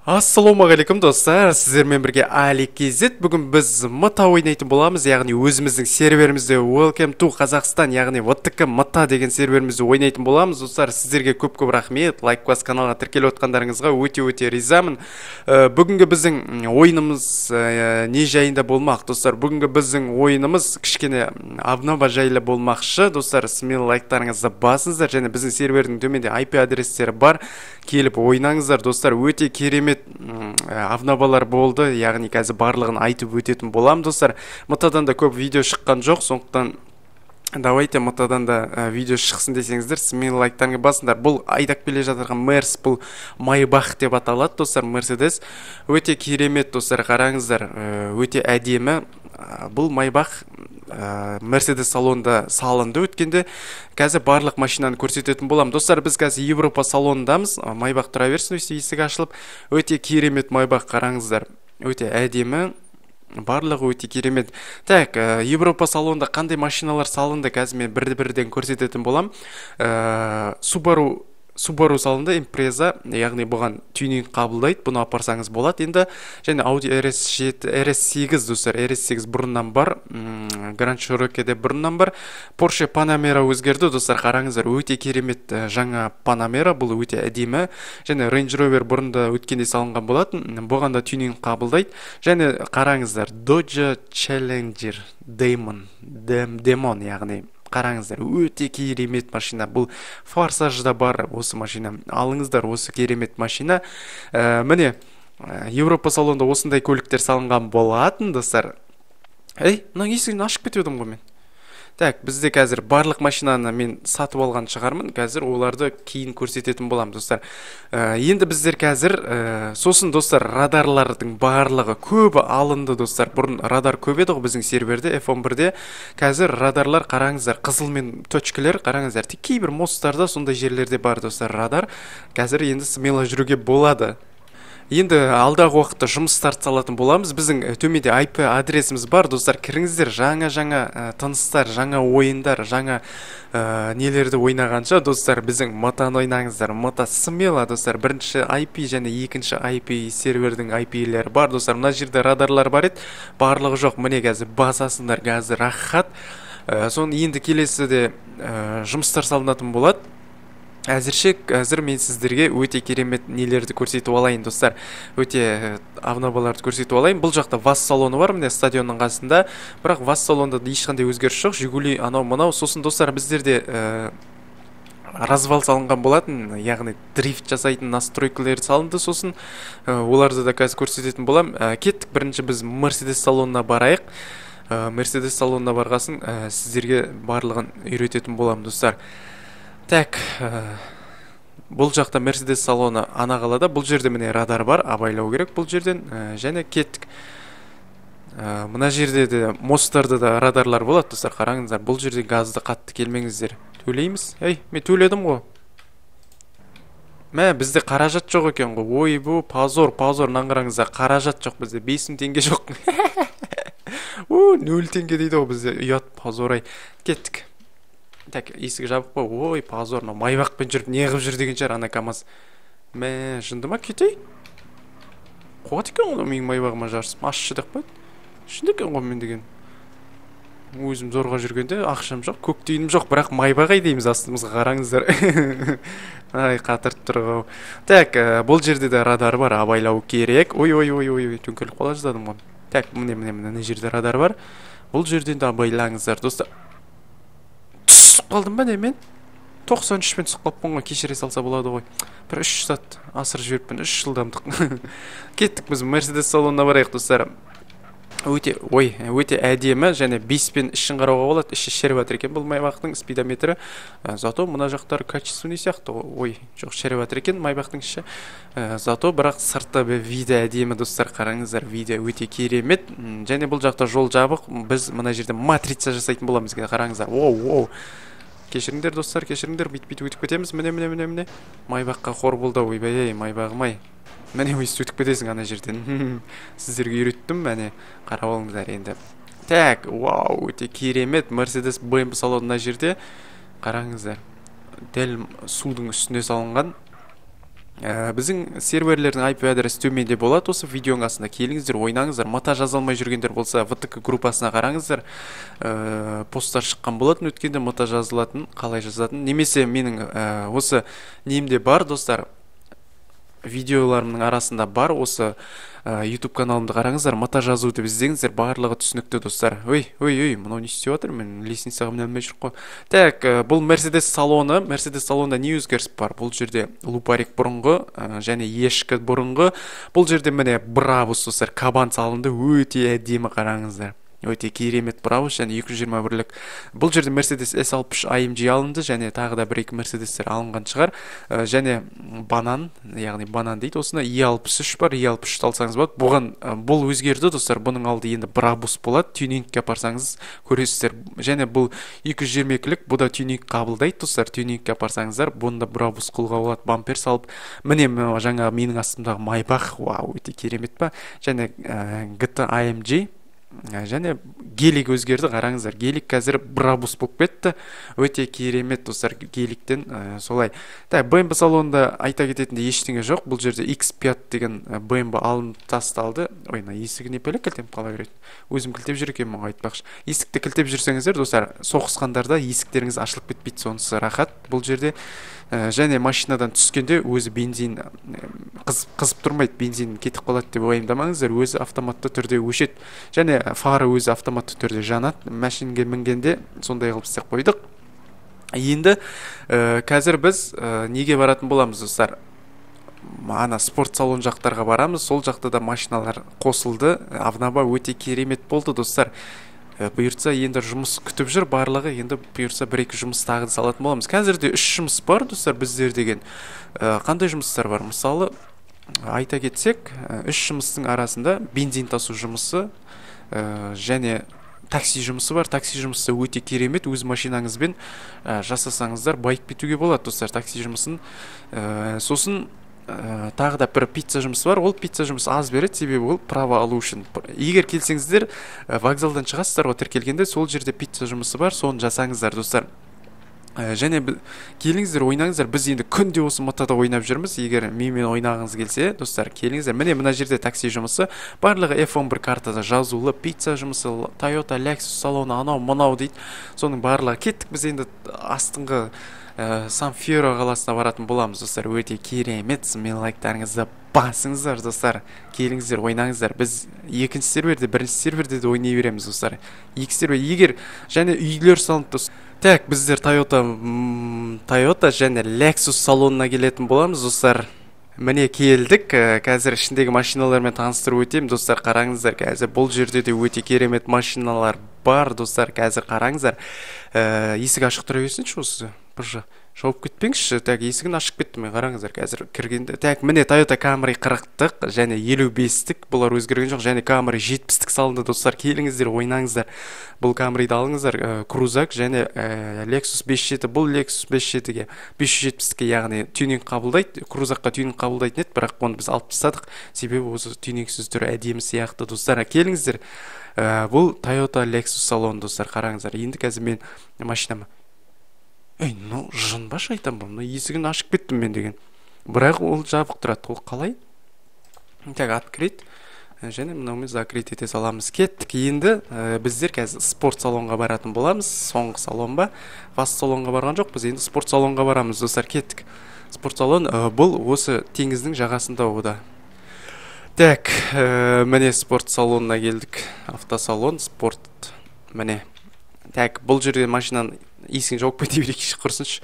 Ассалаумағалейкум достар, сіздермен бірге Али KZ. Бүгін біз мыта ойнайтын боламыз, яғни өзіміздің серверімізде Welcome to Қазақстан, яғни WTK мыта деген серверімізде ойнайтын боламыз. Достар, сіздерге көп-көп рахмет, лайк бас каналға тіркеліп отқандарыңызға өте-өте ризамын. Бүгінгі біздің ойынымыз не жайында болмақ, достар? Бүгінгі біздің ойынымыз кішкене обнова жайлы болмақшы. Достар, смело лайктарыңызды басыңыздар, және біздің сервердің төменде IP адрестері бар. Келіп ойнаңыздар, достар. Өте керемет обновалар болды, яғни қазір барлығын айтып өтетін болам, достар. Мытадан да көп видео шыққан жоқ, сондықтан давайте мытадан да видео шықсын десеңіздер, смело лайктарыңызды басыңдар. Бұл айдап келе жатырған Мерс, бұл Майбах деп аталады, достар. Мерседес өте керемет, достар, қараңыздар, өте әдемі. Бұл Майбах Мерседес салонында салынды өткенде. Қазір барлық машинаны көрсететін болам. Достар, біз қазір Европа салонындамыз. Майбах тұра берсін, есігі ашылып. Өте керемет Майбах, қараңыздар. Өте әдемі. Барлығы өте керемет. Так, Европа салонында қандай машиналар салынды, қазір мен бірден көрсететін болам. Subaru салынды, Impreza, яғни бұған тюнинг қабылдайды, бұны апарсаңыз болады енді. Және Audi RS8, достар, RS8 бұрыннан бар, Grand Cherokee де бұрыннан бар. Porsche Panamera өзгерді, достар, қараңыздар, өте керемет жаңа Panamera, бұл өте әдемі. Және Range Rover бұрында өткенде салынған болатын, бұған да тюнинг қабылдайды. Және қараңыздар, Dodge Challenger Demon, яғни қараңыздар, өте керемет машина. Бұл Форсажда бар осы машина. Алыңыздар осы керемет машина. Міне, Европа салонында осындай көліктер салынған болатын, достар. Мына есігін ашып кетедім ғой мен. Так, бізде қазір барлық машинаны мен сатып алған шығармын. Қазір оларды кейін көрсететін болам, достар. Енді біздер қазір, сосын, достар, радарлардың барлығы көбі алынды, достар. Бұрын радар көп еді ғой біздің серверде, F11-де. Қазір радарлар, қараңыздар, қызыл мен точкілер, қараңыздар. Тек кейбір мосттарда сондай жерлерде бар, достар, радар. Қазір енді смело жүруге болады. Енді алдағы уақытта жұмыстар салатын боламыз. Біздің төменде IP адресіміз бар, достар. Кіріңіздер, жаңа тыныстар, жаңа ойындар, жаңа нелерді ойнағанша, достар, біздің мытаны ойнаңыздар. Мыта смело, достар. Бірінші IP және екінші IP сервердің IP-лері бар, достар. Мына жерде радарлар бар еді, барлығы жоқ. Міне қазір басасыңдар, қазір рахат. Соны енді келесіде жұмыстар салынатын болады. Әзір мен сіздерге өте керемет нелерді көрсетіп алайын, достар. Өте обноваларды көрсетіп алайын. Бұл жақта ВАЗ салоны бар, міне стадионның қасында. Бірақ ВАЗ салонында ешқандай өзгеріс жоқ. Жигули анау-мынау. Сосын, достар, біздерде развал салынған болатын, яғни дрифт жасайтын настройкалар салынды. Сосын оларды да қазір көрсететін болам. Кеттік, бірінші біз Мерседес салонына барайық. Мерседес салонына барғасын сіздерге барлығын үйрететін болам, достар. Так, бұл жақта Мерседес салоны ана қалада. Бұл жерде міне радар бар, абайлау керек бұл жерден. Және кеттік. Мына жерде де мосттарда да радарлар болады, достар, қараңыздар. Бұл жерде газды қатты келмеңіздер. Төлейміз. Мен төледім ғой. Бізде қаражат жоқ екен ғой. Бұл позор, наңғыраңыздар. Қаражат жоқ бізде. 5000 теңге жоқ. 0 теңге дейді ғой бізде. Ұят, позор. Кеттік. Так, есігі жабық па? Позор, Майбақпен жүріп неғып жүр деген шығар ана КамАЗ. Жынды ма, кетей? Қуат екен ғой менің Майбағыма жарысып. Ашшы деп қойды. Шынды екен ғой мен деген. Өзім зорға жүргенде ақшам жоқ, көктейінім жоқ, бірақ Майбағай дейміз астымызға, қараңыздар. Қатырып тұрғау. Так, бұл жерде де радар бар, абайлау керек. Ой, төңкеліп қала жаздадым ғой. Так, міне жерде радар бар. Бұл жерден де абайлаңыздар, достар. Қалдым ба не мен? 93-пен түсіп қалыппын ғой, кешіре салса болады ғой. Бір 3 сат асыр жіберіппін, 3 жылдамдық. Кеттік біз Мерседес салонына барайық, достар. Өте әдемі, және 5-пен ішін қарауға болады. Іші шеріп жатыр екен бұл Майбақтың спидометрі. Зато мына жақтары качественный сияқты. Жоқ, шеріп жатыр екен Майбақтың іші. Зато бірақ сырты видео әдемі, достар, қараңыздар, видео өте керемет. Және бұл жақта жол жабық. Біз мына жерде матрица жасайтын боламыз, қараңыздар. Кешіріңдер, достар, кешіріңдер, бит өтіп кетеміз. Міне. Майбаққа қор болды, ойбай, Майбағым-ай. Міне өйтіп кетесің ана жерден. Сіздерге үйреттім, міне, қарап алыңыздар енді. Так, өте керемет. Мерседес BMW салонына жерде. Қараңыздар. Дәл судың үстіне салынған. біздің серверлердің IP адресі төменде болады. Осы видеоның астына келіңіздер, ойнаңыздар. Мата жаза алмай жүргендер болса, ВТК группасына қараңыздар. Посттар шыққан болатын, өткенде мата жазылатын, қалай жазатын. Немесе менің осы немде бар, достар, видеоларымның арасында бар. Осы YouTube каналымды қараңыздар, мата жазу деп іздеңіздер, барлығы түсінікті, достар. Ой, мынау не істеп жатыр? Мен лестницаға міне алмай жүр қой. Так, бұл Мерседес салоны. Мерседес салонында не өзгеріс бар? Бұл жерде лупарик бұрынғы, және ешкі бұрынғы. Бұл жерде міне Брабус, достар, кабан салынды, өте әдемі, қараңыздар. Өте керемет Брабус, және 221-лік. Бұл жерде Mercedes S60 AMG алынды, және тағы да 1-2 Мерседестер алынған шығар. Және банан, яғни банан дейді. Осында E63 бар, E63 алсаңыз болады. Бұл өзгерді, достар. Бұның алды енді Брабус болады. Тюнингке апарсаңыз көресіздер. Және бұл 222-лік, бұл да тюнинг қабылдайды, достар. Тюнингке апарсаңыздар, бұнда Брабус қолға болады, бампер салып. Міне жаңа менің астымдағы Майбах, вау, өте керемет па. Және GT AMG, және гелик өзгерді, қараңыздар. Гелик қазір Брабус болып кетті. Өте керемет, достар, геликтен солай. BMW салонында айта кететінде ештеңе жоқ. Бұл жерде X5 деген BMW алынып тасталды. Ойна, есігі не пәлі кілтем қала беретін. Өзім кілтеп жүр екен, мұңға айтпақшы. Есікті кілтеп жүрсеңіздер, достар, соғысқандарда есіктеріңіз ашылып кетпейді, сонысы рахат. Бұл жерде және машинадан түскенде өзі бензин қызып тұрмайды, бензин кетіп қалады деп уайымдамаңыздар, өзі автоматты түрде өшеді. Және фары өзі автоматты түрде жанады. Машинге мінгенде сондай қылып істеп қойдық. Енді қазір біз неге баратын боламыз, достар? Ана спорт салон жақтарға барамыз. Сол жақта да машиналар қосылды. Авнаба өте керемет болды, достар. Бұйыртса енді жұмыс күтіп жүр барлығы. Енді бұйыртса 1-2 жұмыс тағы салатын боламыз. Қазірде 3 жұмыс бар, достар, біздер деген. Қандай жұмыстар бар? Мысалы, айта кетсек, 3 жұмыстың арасында бензин тасу жұмысы және такси жұмысы бар. Такси жұмысы өте керемет. Өз машинаңызбен жасасаңыздар байып кетуге болады, достар, такси жұмысын. Сосын тағы да бір пицца жұмысы бар. Ол пицца жұмысы аз береді, себебі ол право алу үшін. Егер келсеңіздер, вокзалдан шығасыздар, тіркелгенде сол жерде пицца жұмысы бар, соны жасаңыздар, достар. Және келіңіздер, ойнаңыздар. Біз енді күнде осы матада ойнап жүрміз. Егер менімен ойнағыңыз келсе, достар, келіңіздер. Міне мына жерде такси жұмысы, барлығы F11 картада жазулы, пицца жұмысы, Toyota Lexus салоны, анау мынау дейді. Соның барлығы. Кеттік, біз енді астыңғы Сан-Фьеро қаласына баратын боламыз, достар. Өте керемет. Мен лайктарыңызды басыңыздар, достар. Келіңіздер, ойнаңыздар. Біз екінші серверде, бірінші серверде де ойнай береміз, достар. Екі сервер, егер және үйлер салынып, достар. Так, біздер Toyota және Lexus салонына келетін боламыз, достар. Міне келдік. Қазір ішіндегі машиналармен таныстырып өтем, достар. Қараңыздар, қазір бұл жерде де өте керемет машиналар бар, достар. Қазір қараңыздар. Есік ашық тұра берсінші осы. Бір жауып кетпеңізші. Так, есігін ашып кетті, мен қараңыздар қазір кіргенде. Так, міне Toyota Camry 40-тық және 55-тік, бұлар өзгерген жоқ, және Camry 70-тік салынды, достар. Келіңіздер, ойнаңыздар. Бұл Camry'ді алыңыздар, крузак және Lexus 57. Бұл Lexus 57-ге 570-ке, яғни тюнинг қабылдайды. Крузакқа тюнинг қабылдайтын еді, бірақ оны біз алып тастадық, себебі осы тюнингсіз түрі әдемі сияқты, достар. Келіңіздер, бұл Toyota Lexus салоны, достар. Қараңыздар. Енді қазір мен машинама ну жынба шайтан бұл, есігін ашып кеттім мен деген. Бірақ ол жабық тұрады, ол қалай? Так, открыть. Және мынаумен закрыть ете саламыз. Кеттік. Енді біздер қазір спорт салонға баратын боламыз. Соңғы салон ба? Фаст салонға барған жоқ, біз енді спорт салонға барамыз, достар. Кеттік. Спорт салон бұл осы теңіздің жағасында ода. Так, міне спорт салонына келдік. Автосалон, спорт. Міне. Так, бұл жерде машинаны есігін жауып кете берейікші, құрсыншы.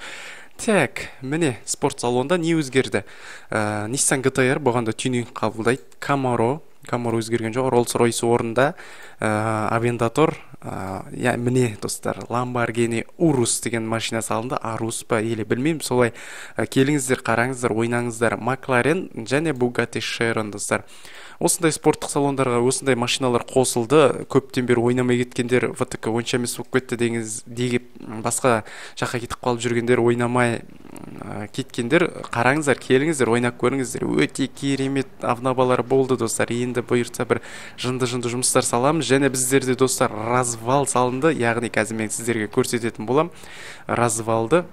Так, міне спорт салонда не өзгерді? Nissan GT-R бұғанда тюнинг қабылдайды. Camaro өзгерген жоқ. Rolls-Royce орында Aventador, міне достар, Lamborghini Urus деген машина салынды. Arus па, еле білмеймін, солай. Келіңіздер, қараңыздар, ойнаңыздар. McLaren және Bugatti Chiron, достар. Осындай спорттық салондарға осындай машиналар қосылды. Көптен бері ойнамай кеткендер, ВТК онша емес болып кетті деген басқа жаққа кетіп қалып жүргендер, ойнамай кеткендер, қараңыздар, келіңіздер, ойнап көріңіздер. Өте керемет авнабалар болды, достар. Енді бұйыртса бір жынды жұмыстар саламыз. Және біздерде, достар, развал салынды, яғни қазір мен сіздерге көрсететін болам. Развалды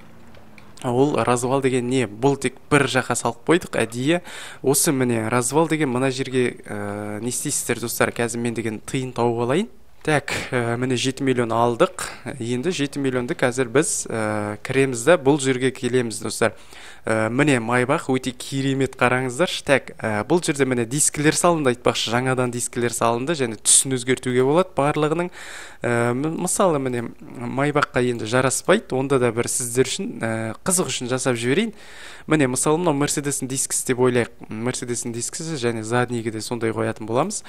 Ол развал деген не? Бұл тек бір жаққа салып қойдық әдейі. Осы міне развал деген мына жерге не істейсіздер достар? Қазір мен деген тиын тауып алайын. Так, міне 7 миллион алдық. Енді 7 миллионды қазір біз кіреміз да бұл жерге келеміз достар. Міне майбақ өте керемет, қараңыздар. Так, бұл жерде міне дискілер салынды, айтпақшы, жаңадан дискілер салынды және түсін өзгертуге болады барлығының. Мысалы міне майбаққа енді жараспайды, онда да бір сіздер үшін қызық үшін жасап жіберейін. Міне мысалы мынау Мерседестің дискісі деп ойлайық. Мерседестің дискісі және заднийге де сондай қоятын боламыз.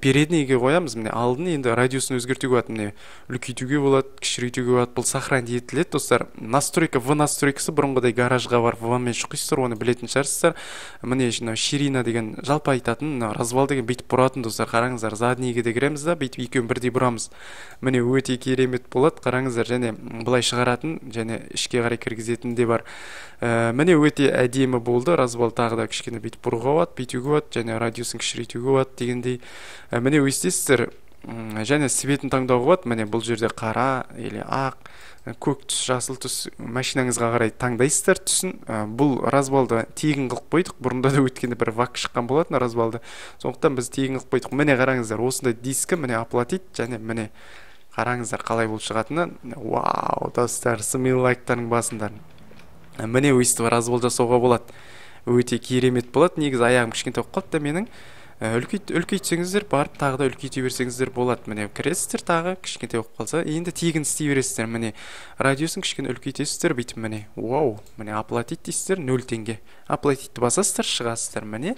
Переднийге қоямыз. Міне алдын енді радиусын өзгертуге болады. Міне үлкейтуге болады, кішірейтуге болады. Бұл сохранить етіледі достар. Настройка, В настройкасы бұрынғыдай гаражға бар, В-мен шұқисыздар, оны білетін шығарсыздар. Міне ширина деген жалпы айтатын, развал деген бүйтіп бұратын достар. Қараңыздар, заднийге де кіреміз да, бүйтіп екеуін бірдей бұрамыз. Міне өте керемет болады. Қараңыздар, және былай шығаратын және ішке қарай кіргізетін де бар. Міне өте әдемі болды. Развал тағы да кішкене бүйтіп бұруға болады, бүйтуге болады және радиусын кішірейтуге болады дегендей. Міне өстесіздер, және светін таңдауға болады. Міне бұл жерде қара или ақ, көк түс, жасыл түс машинаңызға қарай таңдайсыздар түсін. Бұл развалды тегін қылып қойдық. Бұрында да өткенде бір вак шыққан болатын развалды. Сондықтан біз тегін қылып қойдық. Міне қараңыздар, осындай дискі міне оплатить және міне қараңыздар қалай болып шығатынын. Вау, достар, смелый лайктардың басындар. Міне өйстіп развал жасауға болады. Өте керемет болады. Негізі аяғым кішкентай болып қалды да менің. Үлкейтсеңіздер, барып тағы да үлкейте берсеңіздер болады. Міне кіресіздер, тағы кішкентай болып қалса, енді тегін істей бересіздер. Міне радиосын кішкене үлкейтесіздер, бүйтіп міне. Вау, міне оплатить дейсіздер, 0 теңге. Оплатитті басасыздар, шығасыздар. Міне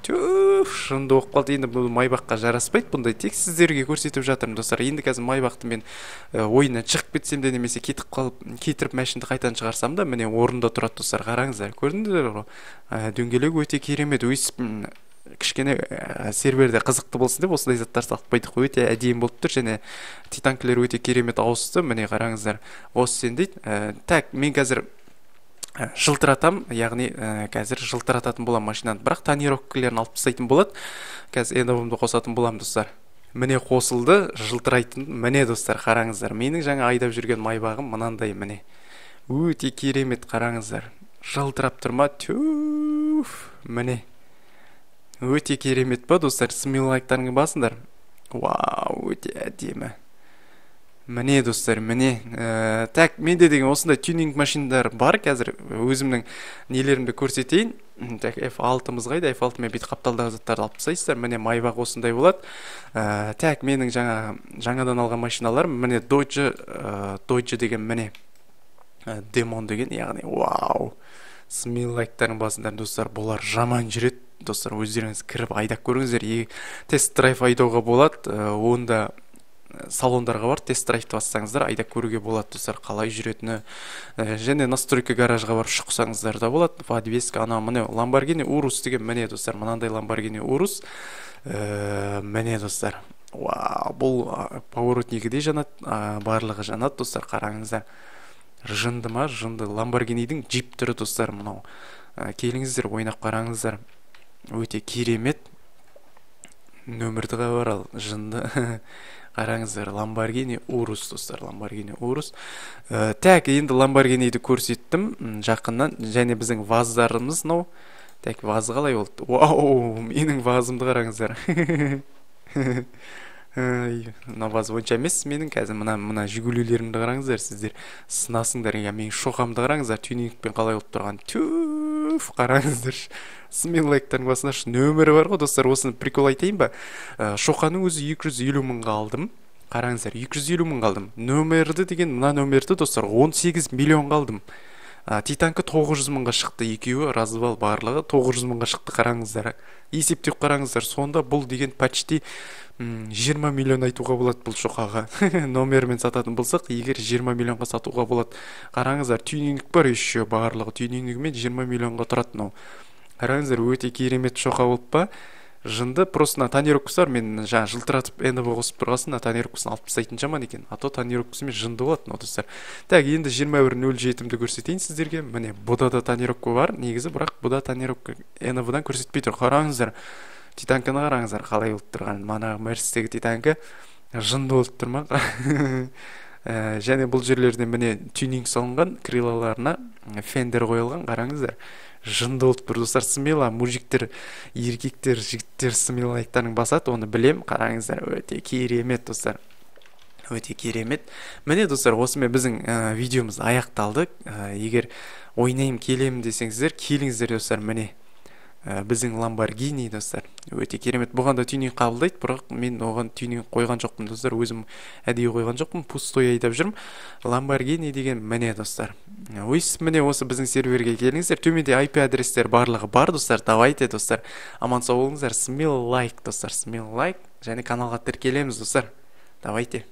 шынды оқып қалды. Енді бұл майбаққа жараспайды, бұндай тек сіздерге көрсетіп жатырмын достар. Енді қазір майбақты мен ойынан шығып кетсем де немесе кетіріп машинды қайтадан шығарсам да, міне орында тұрады достар. Қараңыздар, көрдіңіздер ғой? Дөңгелек өте керемет. Өйсіп кішкене серверде қызықты болсын деп осындай заттар салып қойдық. Өте әдемі болып тұр және титанкілер өте керемет ауысты. Міне қараңыздар, осы сен дейді. Так, мен қазір жылтыратам, яғни қазір жылтырататын болам машинаны, бірақ тонировкалерін алып тастайтын болады. Қазір эндовымды қосатын болам достар. Міне қосылды, жылтырайтын. Міне достар, қараңыздар, менің жаңа айдап жүрген майбағым мынандай. Міне өте керемет, қараңыздар, жылтырап тұрма. Міне өте керемет па достар, смелый лайктарыңды басыңдар. Вау, өте әдемі. Міне достар, міне. Так, менде деген осындай тюнинг машиналар бар. Қазір өзімнің нелерімді көрсетейін. Так, F6-мыз қайда? F6-мен бүйтіп қапталдағы заттарды алып тастайсыздар. Міне майбақ осындай болады. Так, менің жаңадан алған машиналар, міне Dodge деген, міне Demon деген, яғни вау. Смелый лайктардың басындар достар, болар жаман жүреді. Достар, өздеріңіз кіріп айдап көріңіздер. Тест-драйв айдауға болады. Онда салондарға бар, тест-драйвты бассаңыздар, айдап көруге болады достар, қалай жүретіні. Және настройка гаражға бар шықсаңыздар да болады. Подвеска, ана міне Lamborghini Urus деген, міне достар, мынандай Lamborghini Urus. Міне достар. Вау, бұл поворотнигі де жанат, барлығы жанат достар, қараңыздар. Жынды ма? Жынды. Lamborghini'дің джип түрі достар, мынау. Келіңіздер, ойнап қараңыздар. Өте керемет. Нөмірді қабарал, жынды. Қараңыздар, Lamborghini Urus достар, Lamborghini Urus. Так, енді Lamborghini'ді көрсеттім жақыннан, және біздің ваздарымыз, мынау. Так, ваз қалай болды? Вау, менің вазымды қараңыздар. Мына ваз онша емес менің, қазір мына жүгілулерімді қараңыздар, сіздер сынасыңдар. Менің шоқамды қараңыздар, тюнингпен қалай болып тұрған. Қараңыздар, смелый лайктардың басында нөмірі бар ғой достар. Осыны прикол айтайын ба? Шоқаның өзі 250 мыңға алдым. Қараңыздар, 250 мыңға алдым. Нөмірді деген, мына нөмірді достар 18 миллионға алдым. Титанкі 900 мыңға шықты, екеуі развал барлығы 900 мыңға шықты. Қараңыздар, есептеп қараңыздар. Сонда бұл деген почти 20 миллион айтуға болады бұл шоқаға. Номермен сататын болсақ, егер 20 миллионға сатуға болады. Қараңыздар, тюнинг бар еще, барлығы тюнингімен 20 миллионға тұрады. Қараңыздар, өте керемет шоқа болып па? Жынды. Просто на тонировкасы бар. Мен жаңа жылтыратып эндовы қосып тұрғасын, на тонировкасын алып тастайтын жаман екен. А то тонировкасымен жынды болады, достар. Так, енді 21.07-ді көрсетейін сіздерге. Міне, бұда да тонировка бар. Негізі, бірақ бұда тонировка эндовыдан көрсетпей тұр. Қараңыздар, титанканы қараңыздар, қалай болып тұрған. Мана Мерседестегі титанкі жынды болып тұр ма? Және бұл жерлерде міне тюнинг салынған, крылаларына фендер қойылған, қараңыздар. Жынды болып тұр достар. Смело мужиктер, еркектер, жігіттер смелайттарын басады, оны білем. Қараңыздар, өте керемет достар. Өте керемет. Міне достар, осымен біздің видеомыз аяқталды. Егер ойнайым келем десеңіздер, келіңіздер достар. Міне біздің Lamborghini достар. Өте керемет. Бұған да тюнинг қабылдайды, бірақ мен оған тюнинг қойған жоқпын достар. Өзім әдейі қойған жоқпын, пустой айдап жүрмін. Lamborghini деген міне достар. Міне осы біздің серверге келіңіздер. Төменде IP адрестер барлығы бар достар. Давайте достар. Аман сау болыңыздар. Смело лайк достар. Смело лайк. Және каналға тіркелеміз достар. Давайте.